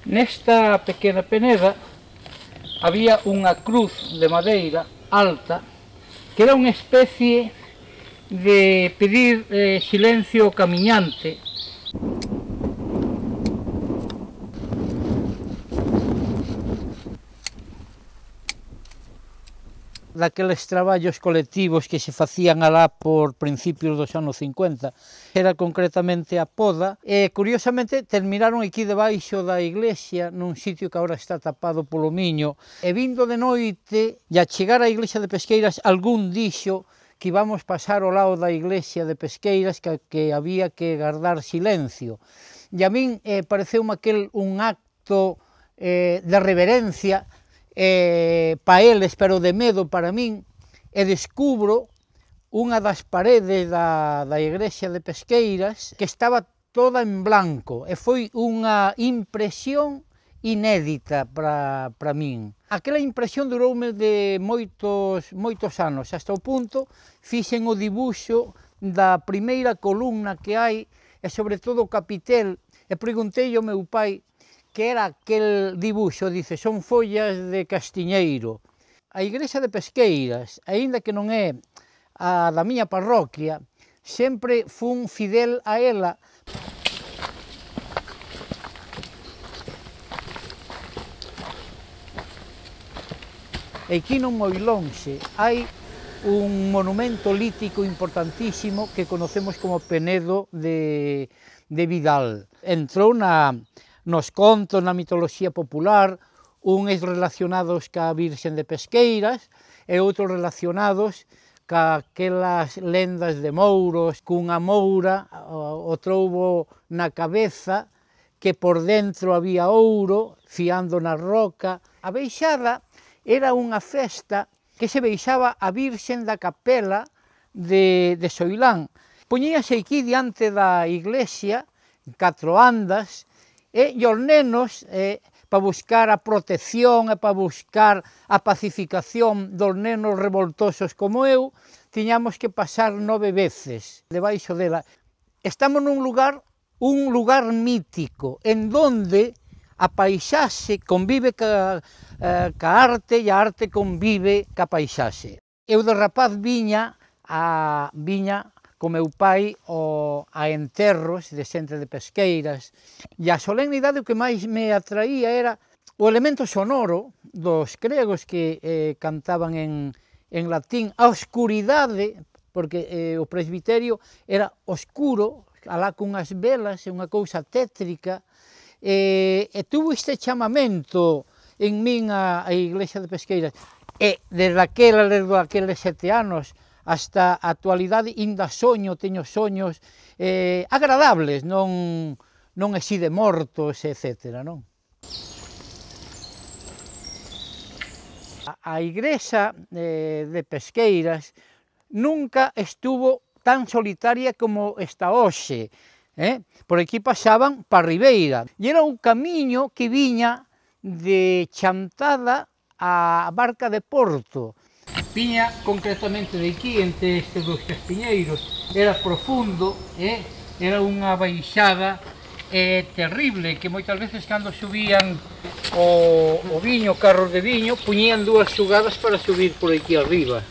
Nesta pequena peneda había unha cruz de madeira alta que era unha especie de pedir silencio ao camiñante. Daqueles traballos colectivos que se facían alá por principios dos anos 50, era concretamente a poda, e curiosamente terminaron aquí debaixo da iglesia, nun sitio que agora está tapado polo miño, e vindo de noite, e a chegar á iglesia de Pesqueiras, algún dixo que íbamos pasar ao lado da iglesia de Pesqueiras, que había que guardar silencio. E a min pareceume aquel un acto de reverencia, para eles, pero de medo para min, e descubro unha das paredes da igrexa de Pesqueiras que estaba toda en blanco, e foi unha impresión inédita para min. Aquela impresión duroume de moitos anos, hasta o punto fixen o dibuxo da primeira columna que hai, e sobre todo o capitel, e preguntei ao meu pai que era aquel dibuxo, dice, son follas de castiñeiro. A igrexa de Pesqueiras, aínda que non é a da miña parroquia, sempre fun fidel a ela. E aquí non moi lonxe hai un monumento lítico importantísimo que conocemos como Penedo de Vidal. Entrou nos contos, na mitoloxía popular, uns relacionados ca Virxen de Pesqueiras e outros relacionados ca aquelas lendas de mouros, cunha moura, o troubo na cabeza, que por dentro había ouro, fiando na roca. A beixada era unha festa que se beixaba a Virxen da Capela de Soilán. Poñíase aquí diante da iglesia, 4 andas, e os nenos, para buscar a protección e para buscar a pacificación dos nenos revoltosos como eu, tiñamos que pasar 9 veces debaixo dela. Estamos nun lugar mítico, en donde a paisaxe convive ca arte e a arte convive ca paisaxe. Eu de rapaz viña co meu pai a enterros de xente de Pesqueiras, e a solemnidade o que máis me atraía era o elemento sonoro dos gregos que cantaban en latín, a oscuridade, porque o presbiterio era oscuro, alá cunhas velas, unha cousa tétrica, e tuvo este chamamento en min a iglesia de Pesqueiras, e desde aqueles 7 anos, hasta a actualidade, ainda teño soños agradables, non así de mortos, etc. Non? A igrexa de Pesqueiras nunca estuvo tan solitaria como está hoxe. Por aquí pasaban para a Ribeira, e era un camiño que viña de Chantada á Barca de Porto. Viña concretamente de aquí, entre estes dos castiñeiros, era profundo, era unha baixada terrible, que moitas veces cando subían o viño, carros de viño, puñían 2 xugadas para subir por aquí arriba.